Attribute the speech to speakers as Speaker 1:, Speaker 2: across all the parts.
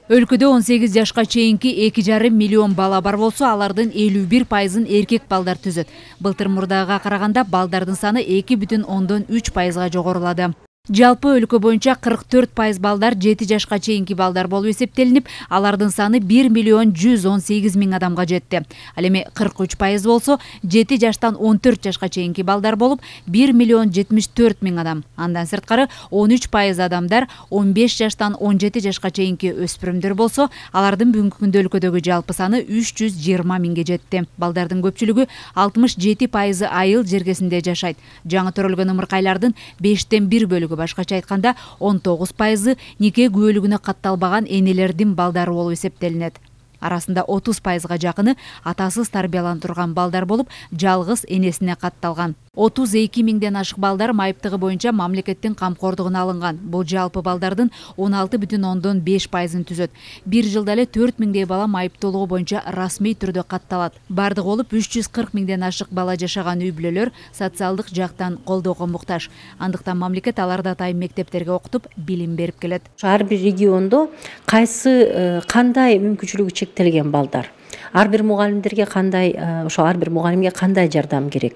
Speaker 1: Өлкөдө 18 жашка чейинки 2,5 миллион бала бар болсо, алардын 51%-ын эркек балдар түзөт. Былтыр мурдага караганда балдардын саны 2,3%га жогорулады. Жалпы өлкө боюнча 44% балдар 7 жашка чейинки балдар болуп эсептелинип, алардын саны 1,118,000 адамга жетти. Ал эми 43% болсо, 7 жаштан 14 жашка чейинки балдар болуп, 1,074,000 адам. Андан сырткары 13% адамдар 15 жаштан 17 жашка чейинки өспүрүмдөр болсо, алардын бүгүнкү күндө өлкөдөгү жалпы саны 320,000 жетти. Балдардын көпчүлүгү 67% айыл жергесинде жашайт. Жаңы төрөлгөн ымыркайлардын 5тен 1 бөлүгү, башкача айтканда 19% нике күбөлүгүнө катталбаган энелердин балдары болуп эсептелинет. Арасында 30%га жакыны атасыз тарбиялантырган балдар болуп, жалгыз энесине катталган. 32,000ден ашык балдар майыптыгы боюнча мамлекеттин камкордугуна алынган. Бул жалпы балдардын 16,5%-ын түзөт. Бир жылда эле 4,000дей бала майыптуулугу боюнча расмий түрдө катталат. Бардыгы болуп 340,000ден ашык бала жашаган үй-бүлөлөр социалдык жактан колдоого муктаж. Андыктан мамлекет аларды атайын мектептерге окутуп, билим берип келет.
Speaker 2: Ар бир региондо кандай мүмкүнчүлүгү чектелген балдар, ар бир мугалимдерге кандай, ошо ар бир мугалимге кандай жардам керек.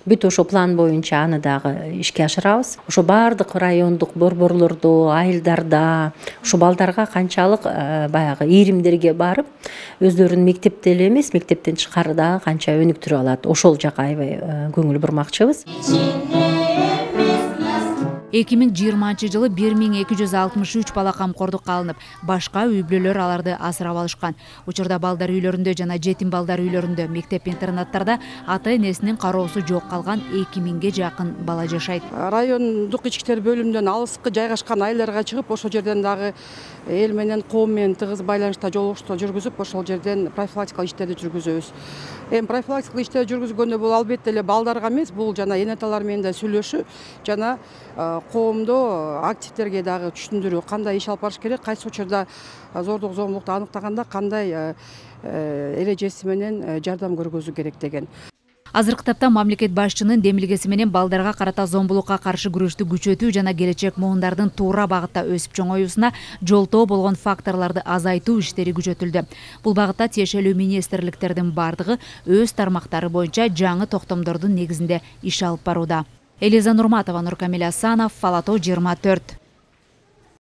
Speaker 2: Бүт ошо план боюнча аны дагы ишке ашырабыз. Ошо бардык райондук борборлордо, айылдарда ошо балдарга канчалык баягы ийримдерге барып, өздөрүн мектепте эле эмес, мектептен тышкары дагы канча өнүктүрүп алат. Ошол жака аябай көңүл бурмакчыбыз.
Speaker 1: 2020 жылы 1263 бала камкордукка алынып, башка үй-бүлөлөр аларды асырап алышкан. Учурда балдар үйлөрүндө жана жетим балдар үйлөрүндө, мектеп-интернаттарда ата-энесинин кароосу жок калган 2000ге жакын бала жашайт.
Speaker 3: Райондук ички иштер бөлүмүнөн алыскы жайгашкан айылдарга чыгып, ошол жерден дагы эл менен, коом менен тыгыз байланышта жолугушуу жүргүзүп, ошол жерден профилактикалык иштерди жүргүзөбүз. Эми профилактикалык иштер жүргүзгөндө бул албетте эле балдарга эмес, бул жана эне аталар менен да сүйлөшүү жана коомдо активдерге дагы түшүндүрүү, кандай иш алып барыш керек, кайсы учурда зордук зомбулукту аныктаганда кандай эрежеси менен жардам көргөзүү керек деген.
Speaker 1: Азыркы тапта мамлекет башчынын демилгеси менен балдарга карата зомбулукка каршы күрөштү күчөтүү жана келечек муундардын туура багытта өсүп чоңоюусуна жолтоо болгон факторлорду азайтуу иштери күчөтүлдү. Бул багытта тиешелүү министрликтердин бардыгы өз тармактары боюнча жаңы токтомдордун негизинде иш алып барууда. Элиза Нурматова, Нуркамил Асанов, Фалато 24.